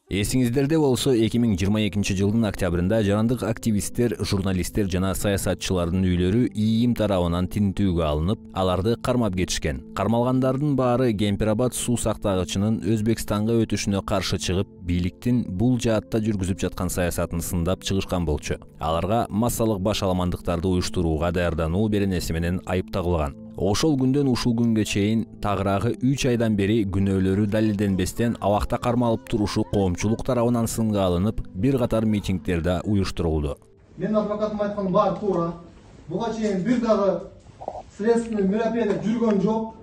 Эсиңиздерде болсо 2022 жылдын октябрында жарандык активисттер, журналисттер жана саясатчылардын үйлөрү ИИМ тарабынан тинтүүгө алынып, аларды кармап кетишкен. Кармалгандардын баары Кемпир-Абад суу сактагычынын Өзбекстанга өтүшүнө каршы чыгып, бийликтин бул жаатта жүргүзүп жаткан саясатын сындап чыгышкан болчу. Аларга массалык башаламандыктарды уюштурууга даярдануу беренеси менен айып тагылган. Ошол күндөн ушул күнгө чейин тагыраагы 3 айдан бери күнөөлөрү далилденбестен абакта кармалып турушу коомчулук тарабынан сынга алынып, бир катар митингдерде уюштурулду. Мен адвокатым айткан баары туура. Буга чейин бир дагы следственный мероприятие жүргөн жок.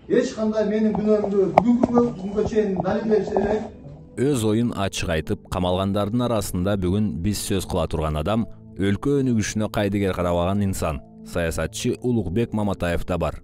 Эч кандай менин күнөөмдү бүгүнкү күнгө чейин далилдеш элек. Өз оюн ачык айтып, камалгандардын арасында бүгүн биз сөз кыла турган адам өлкө өнүгүшүнө кайдыгер карабаган инсан. Саясатчы Улукбек Маматаев да бар.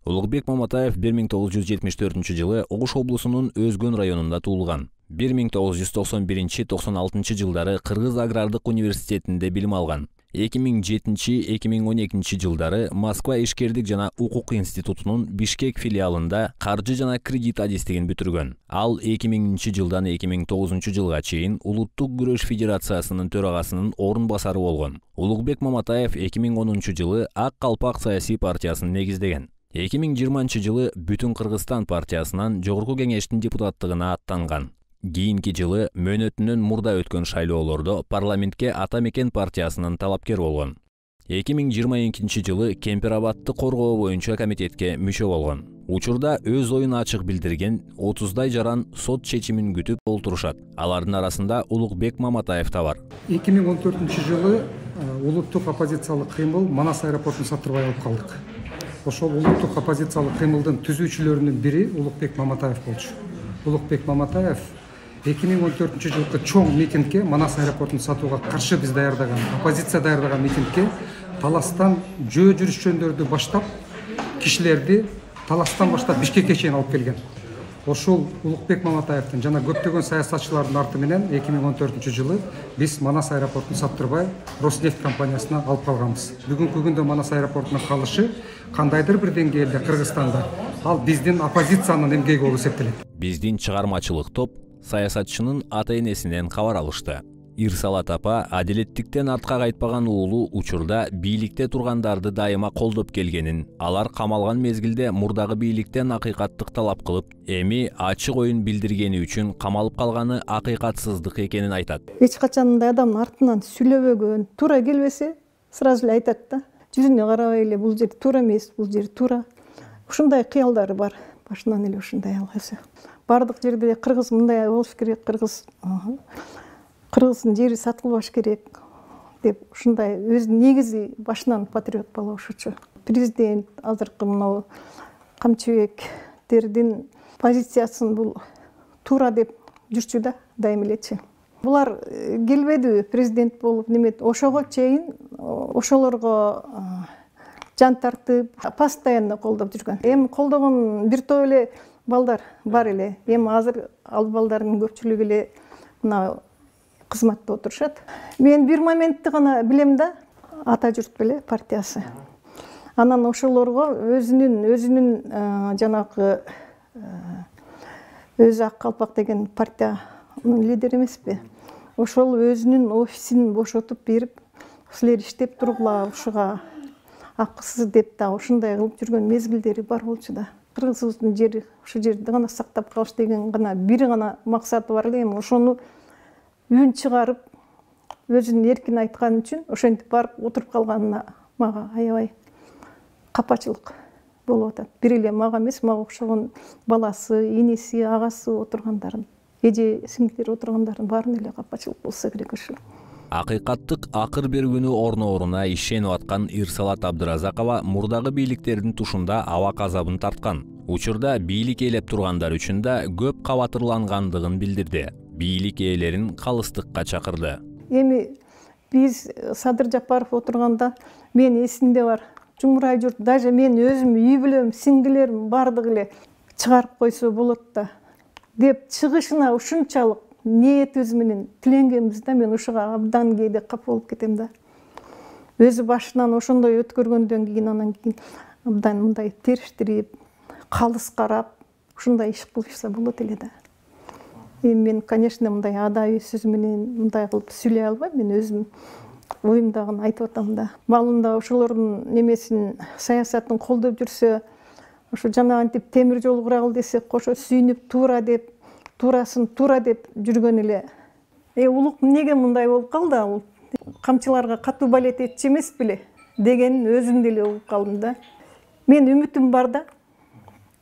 Улукбек Маматаев 1974 жылы Ош облусунун Өзгөн районунда туулган. 1991-96 жылдары Кыргыз агрардык университетинде билим алган. 2007-2012 жылдары Москва ишкердик жана укук институтунун Бишкек филиалында каржы жана кредит адистигин бүтүргөн. Ал 2000 жылдан 2009 жылга чейин Улуттук күрөш федерациясынын төрагасынын орун басары болгон. Улукбек Маматаев 2010 жылы Ак Калпак саясий партиясын негиздеген. 2020 жылы Бүтүн Кыргызстан партиясынан Жогорку кеңештин депутаттыгына аттанган. Кийинки жылы мөөнөтүнөн мурда өткөн шайлоолордо парламентке Ата Мекен партиясынын талапкер болгон. 2022 жылы Кемпир-Абадты коргоо боюнча комитетке мүчө болгон. Учурда өз оюн ачык билдирген 30дай жаран сот чечимин күтүп олтурушат. Алардын арасында Улукбек Маматаев да бар. 2014 жылы улуттук оппозициялык кыймыл Манас аэропортун сатырбай алып калдык. Ошол улуттук оппозициялык кыймылдын түзүүчүлөрүнүн бири Улукбек Маматаев болчу. Улукбек Маматаев 2014 жылкы чоң митингке, Манас аэропортун сатууга каршы биз даярдаган, оппозиция даярдаган митингке таластан жөө жүрүшчөндөрдү баштап, кишилерди таластан баштап Бишкекке чейин алып келген. Ошол Улукбек Маматаевдин жана көптөгөн саясатчылардын арты менен 2014 жылы биз Манас аэропортун саттырбай Роснефть компаниясына алып калганбыз. Бүгүнкү күндө Манас аэропортунун калышы кандайдыр бир деңгээлде Кыргызстанда ал биздин оппозициянын эмгеги болуп эсептелет. Биздин чыгармачылык топ саясатчынын ата-энесинен кабар алышты. Ирсалат апа адилеттиктен артка кайтпаган уулу учурда бийликте тургандарды дайыма колдоп келгенин, алар камалган мезгилде мурдагы бийликтен акыйкаттык талап кылып, эми ачык оюн билдиргени үчүн камалып калганы акыйкатсыздык экенин айтат. Эч качан мындай адамдын артынан сүйлөбөгөн, туура келбесе, сразу эле айтат да. Жүзүнө карабай эле бул жер туура эмес, бул жер туура. Ушундай кыялдары бар. Башынан эле ушундай алгысы. Бардык жерде кыргыз мындай болуш керек, кыргыздын жери сатылбаш керек деп ушундай өз негизи башынан патриот бала ошочу. Президент азыркы мына Камчыбектердин позициясын бул туура деп жүрчү да, дайым элечи. Булар келбеди президент болуп немет, ошого чейин ошолорго жан тартып, постоянно колдоп жүргөн. Эми колдогон бир топ эле балдар бар эле. Эми азыр ал балдардын көпчүлүгү эле мына кызматта отурушат. Мен бир моментти гана билем да, ата журт беле партиясы. Анан ошолорго өзүнүн жанагы өзү Ак Калпак деген партиянын лидери эмеспи? Ошол өзүнүн офисин бошотуп берип, силер иштеп тургула ушуга акысыз деп да ушундай кылып жүргөн мезгилдери бар болчу да. Кыргызыбыздын жери ушу жерди гана сактап калыш деген гана бир гана максаты бар эле. Эми ошону үн чыгарып, өзүнүн эркин айткан үчүн ошентип барып отуруп калганына мага аябай капачылык болуп атат. Бир эле мага эмес, мага окшогон баласы, энеси, агасы отургандарын, эже сиңдилери отургандардын баарына эле капачылык болсо керек ушу. Акыйкаттык акыр берүүнү орно-оруна ишенип аткан Ирсалат Абдыразакова мурдагы бийликтердин тушунда абак азабын тарткан. Учурда бийлик ээлеп тургандар үчүн да көп кабатырлангандыгын билдирди. Бийлик ээлерин калыстыкка чакырды. Эми биз Садыр Жапаров отурганда мен эсимде бар. Жумурай журт, даже мен өзүм үй бүлөм, сиңдилерим бардыгы эле чыгарып койсо болот да деп чыгышына ушунчалык ниетибиз менен тиленгенбиз да. Мен ушуга абдан кээде капа болуп кетем да. Өзү башынан ошондой өткөргөндөн кийин анан кийин абдан мындай териштирип, калыс карап, ушундай иш кылышса болот эле да. Мен, конечно, мындай адаий сөз менен мындай кылып сүйлөй албайм. Мен өзүм оюмдагыны айтып атам да. Маалында ошолордун немесин, саясатын колдоп жүрсө, ошо жана антип темир жол курагыл десе, кошо сүйүнүп туура деп, туурасын туура деп жүргөн эле. Улук эмнеге мындай болуп калды? Ал камчыларга катуу балет этчи эмес беле дегенин өзүм деле угуп калдым да. Мен үмүтүм бар да.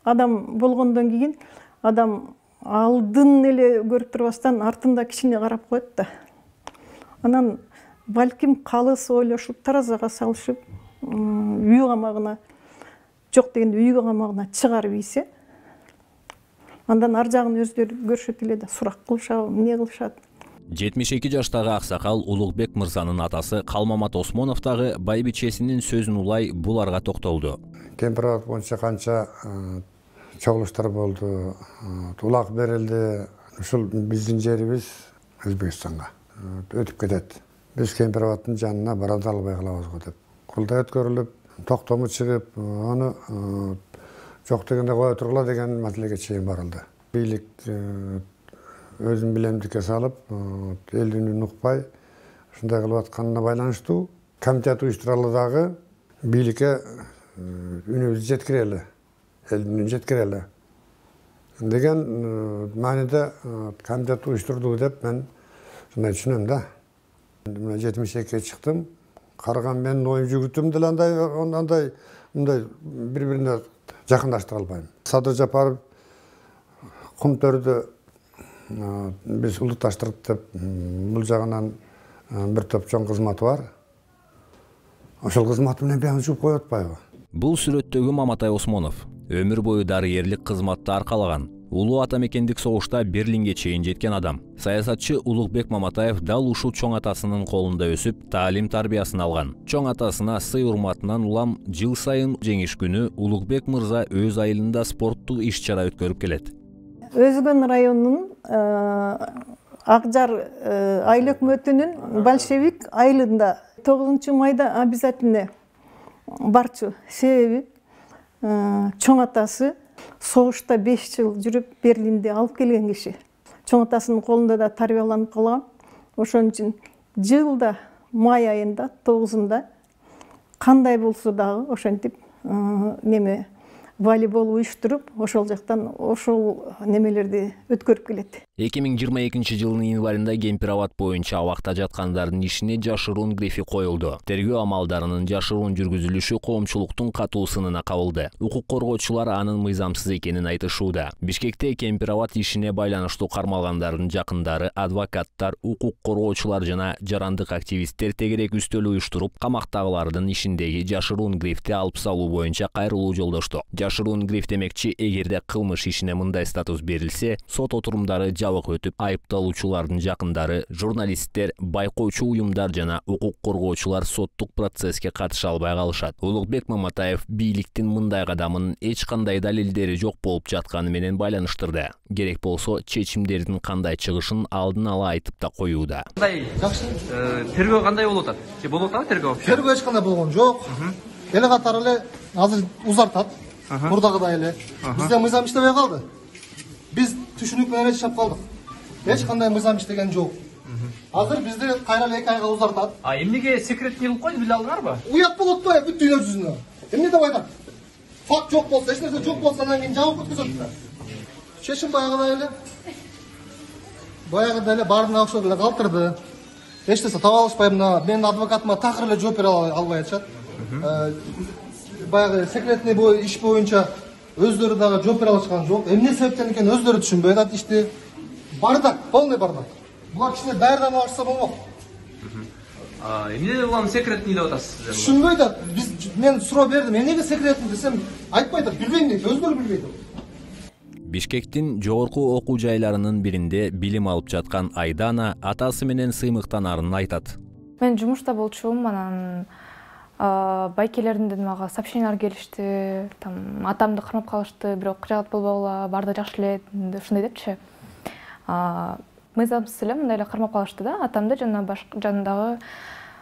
Адам болгондон кийин адам алдын эле көрүп турбастан артында кичине карап коет да. Анан балким калыс ойлошуп, таразага салышып, үй камагына жок дегенде үй камагына чыгарып ийсе, андан ар жагын өздөрү көрүшөт эле да, сурак кылышабы, эмне кылышат. 72 жаштагы аксакал Улукбек мырзанын атасы Калмамат Осмонов дагы байбичесинин сөзүн улай буларга токтолду. Кемпирабад боюнча канча чогулуштар болду, улак берилди. Ушул биздин жерибиз Өзбекстанга өтүп кетет. Биз Кемпирабаддын жанына бара да албай калабыз го деп. Курултай өткөрүлүп, токтому чыгып, аны жок дегенде кое тургула деген маселеге чейин барылды. Бийлик өзүн билемдикке салып, элдин үнүн укпай, ушундай кылып атканына байланыштуу комитет уюштуралы дагы бийликке үнүбүздү жеткирели, элдин үнүн жеткирели деген мааниде комитет уюштурду деп мен ушундай түшүнөм да. 72-ге чыктым, караган менин оюм жүгүртүм деле андай бири-бирине жакындаштыра албайм. Садыр Жапаров Кумтөрдү биз улутташтырдык деп, бул жагынан бир топ чоң кызматы бар. Ошол кызматы менен бияны жууп коюп атпайбы? Бул сүрөттөгү Маматай Осмонов өмүр бою дарыерлик кызматты аркалаган. Улуу ата мекендик согушта Берлинге чейин жеткен адам. Саясатчы Улукбек Маматаев дал ушул чоң атасынын колунда өсүп, таалим тарбиясын алган. Чоң атасына сый урматынан улам жыл сайын жеңиш күнү Улукбек мырза өз айылында спорттук иш-чара өткөрүп келет. Өзгөн районунун Акжар айыл өкмөтүнүн большевик айылында 9 майда обязательно барчу. Себеби чоң атасы согушта 5 жыл жүрүп Берлинде алып келген киши. Чоң атасынын колунда да тарбияланып калган. Ошон үчүн жылда май айында 9-ында кандай болсо дагы ошентип неме волейбол уюштуруп, ошол жактан ошол немелерди өткөрүп келет. 2022 жылдын январында Кемпирабад боюнча абакта жаткандардын ишине жашыруун грифи коюлду. Тергөө амалдарынын жашыруун жүргүзүлүшү коомчулуктун катуу сынына кабылды. Укук коргоочулар анын мыйзамсыз экенин айтышууда. Бишкекте Кемпирабад ишине байланыштуу кармалгандардын жакындары, адвокаттар, укук коргоочулар жана жарандык активисттер тегерек үстөл уюштуруп, камактагылардын ишиндеги жашыруун грифти алып салуу боюнча кайрылуу жолдошту. Жашыруун гриф демекчи, эгерде кылмыш ишине мындай статус берилсе, сот отурумдары жабык өтүп, айыпталуучулардын жакындары, журналисттер, байкоочу уюмдар жана укук коргоочулар соттук процесске катыша албай калышат. Улукбек Маматаев бийликтин мындай кадамын эч кандай далилдери жок болуп жатканы менен байланыштырды. Керек болсо чечимдердин кандай чыгышын алдын ала айтып да коюуда. Жакшы. Тергөө кандай болуп атат? Же болуп атабы тергөө? Тергөө эч кандай болгон жок. Эле катары эле азыр узартат. Мурдагыдай эле. Бизде мыйзам иштебей калды. Биз түшүнүк менен эле чап калдык. Эч кандай мыйзам иштеген жок. Азыр бизди кайра эле 2 айга узартат. Эмнеге секретный кылып койду, биле алдыңарбы? Уят болот да бүт дүйнө жүзүнө. Эмне деп айтат? Факт жок болсо, эч нерсе жок болсо, анан кийин жабып өткөзөт да. Чечим баягыдай эле баарына окшоп эле калтырды. Эч нерсе таба алышпайм да. Менин адвокатыма такыр эле жооп бере албай атышат. Баягы секретный иш боюнча өздөрү дагы жооп бере алышкан жок. Эмне себептен экенин өздөрү түшүнбөй атат ишти. Бардак, полный бардак. Булар кичине даярданып алышса болмок. Эмне улам секретный деп атасыз? Түшүнбөй да. Мен суроо бердим. Эмнеге секретный десем, айтпайт, билбейм дейт, өздөрү билбейт. Бишкектин жогорку окуу жайларынын биринде билим алып жаткан Айдана атасы менен сыймыктанарын айтат. Мен жумушта болчумун, анан байкелерден мага сообщениялар келишти, там атамды кармап калышты, бирок жагат болбогула, баары да жакшы эле, ушундай депчи. Мыйзамсыз эле мындай эле кармап калышты да, атамды жана башка жанындагы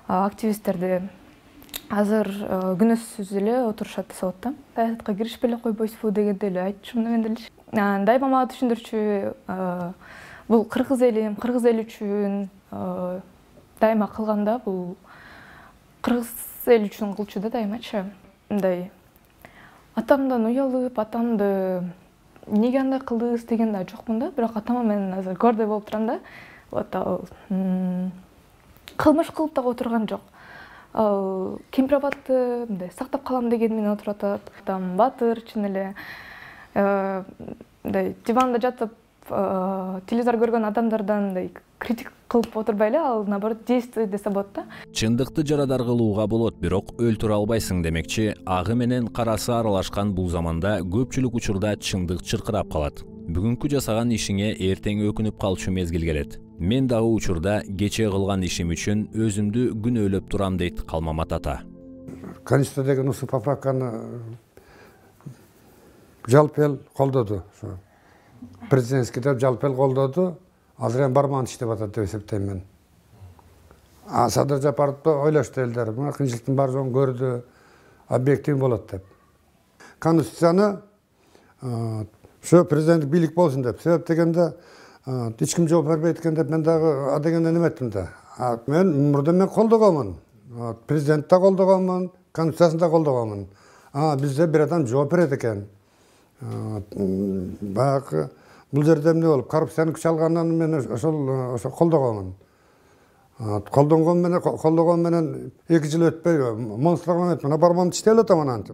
активисттерди. Азыр күнөөсүз эле отурушат сотто. Саясатка киришпей эле койбойсузбу дегенде эле айтчумун мен деле. Дайыма мага түшүндүрчү бул кыргыз ели үчүн дайыма кылганда бул кыргыз ели үчүн кылчу да дайымачы. Мындай атамдан уялып, атамды неге андай кылдыңыз деген да жокмун да, бирок атама мен азыр гордой болуп турам да. Вот кылмыш кылып дагы отурган жок. Кемпир абадты мындай сактап калам деген менен отуруп атат. Атам батыр, чын эле мындай диванда жатып телевизор көргөн адамдардан мындай критик кылып отурбай эле, ал наоборот действуй десе болот да. Чындыкты жарадар кылууга болот, бирок өлтүрө албайсың демекчи, агы менен карасы аралашкан бул заманда көпчүлүк учурда чындык чыркырап калат. Бүгүнкү жасаган ишиңе эртең өкүнүп калчу мезгил келет. Мен дагы учурда кечээ кылган ишим үчүн өзүмдү күнөөлөп турам дейт Калмамат ата. Конституция деген ушул поправканы жалпы эл колдоду. Президентский деп жалпы эл колдоду. Азыр эми барман иштеп атат деп эсептейм мен. Садыр Жапаровду ойлошту элдер. Мына кыйынчылыктын бар жоогун көрдү, объектив болот деп. Конституцияны ошо президенттик бийлик болсун деп. Себеп дегенде эч ким жооп бербейт экен деп мен дагы дегенде неметтим да. Мен мурда колдогонмун. Президент да колдогонмун, конституциясын да колдогонмун. Бизде бир адам жооп берет экен. Баягы бул жерде эмне болуп, коррупцияны күч алгандан мен ошо колдогонмун. Колдогон менен 2 жыл өтпөй монстрогон мына барман иштеп эле атам анан.